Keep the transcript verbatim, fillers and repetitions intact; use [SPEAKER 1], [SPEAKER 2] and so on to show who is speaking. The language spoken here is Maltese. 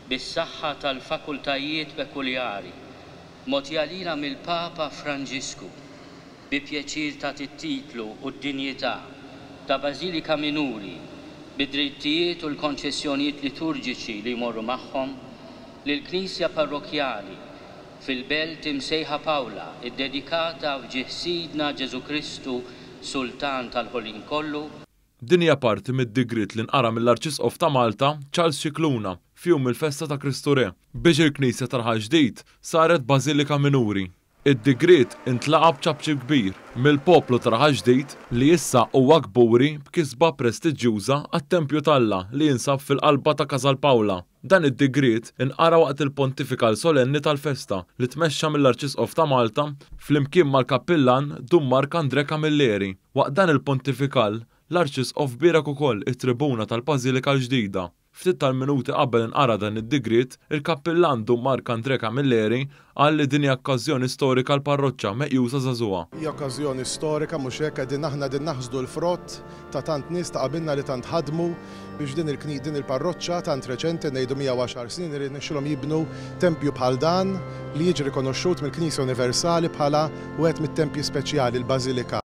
[SPEAKER 1] Bis-saħħa tal-fakultajiet pekuljari mogħtija lilha mill-Papa Franġisku, bi pjaċir tagħti t-titlu u d-dinjità ta' Bażilika Minuri, bid-drittijiet u l-konċessjonijiet liturġiċi li jmorru magħhom, lill-knisja parrokkjali fil-belt imsejħa Paola, iddedikata f'ġieħ Sidna Ġesù Kristu Sultan tal-ħolqien kollu.
[SPEAKER 2] Din hija parti mid-digriet li nqara mill-Arċisqof ta' Malta, Charles Scicluna, f'jum il-festa ta' Kristu Re, biex il-Knisja ta' Raħal Ġdid saret Bażilika Minuri. Id-digriet intlaqa' b'ċapċip kbir mill-poplu ta' Raħal Ġdid li issa huwa kburi b'kisba prestiġjuża għat-Tempju t'Alla li jinsab fil-qalba ta' Casal Paola. Dan id-digriet inqara waqt il-pontifikal solenni tal-festa li tmexxa mill-Arċisqof ta' Malta flimkien mal-Kappillan Dun Mark Andre Camilleri. Waqt dan il-pontifikal, l-Arċisqof bierek ukoll it-tribuna tal-Bażilika l-ġdida. Ftit tal-minuti qabel inqara dan id-digriet, il-Kappillan Dun Mark Andre Camilleri qal li din hija okkażjoni storika l-parroċċa meqjusa żagħżugħa.
[SPEAKER 3] Hija okkażjoni storika, mhux hekk? Qegħdin aħna din naħsdu l-frott ta' tant nies ta' qabilna li tant ħadmu biex din il-kni din il-parroċċa tant reċenti, ngħidu mija u għaxar snin, li rnexxilhom jibnu tempju bħal dan li jiġi rikonoxxut mill-Knisja Universali bħala wieħed mit-tempji speċjali, l-Bażilika.